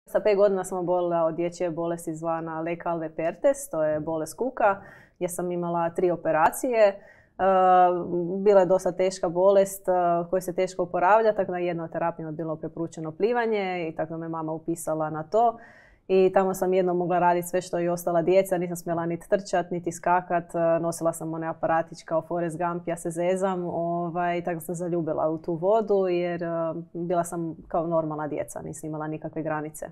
Sa 5 godina sam obolila od dječje bolesti zvana Lecale-Pertes, to je bolest kuka, gdje sam imala 3 operacije. Bila je dosta teška bolest koja se teško oporavlja, tako da jedna od terapija je bilo preporučeno plivanje i tako da me mama upisala na to. I tamo sam jednom mogla raditi sve što i ostala djeca, nisam smjela niti trčat, niti skakat, nosila sam one aparatić kao Forrest Gump, ja se zezam, tako sam zaljubila u tu vodu jer bila sam kao normalna djeca, nisam imala nikakve granice.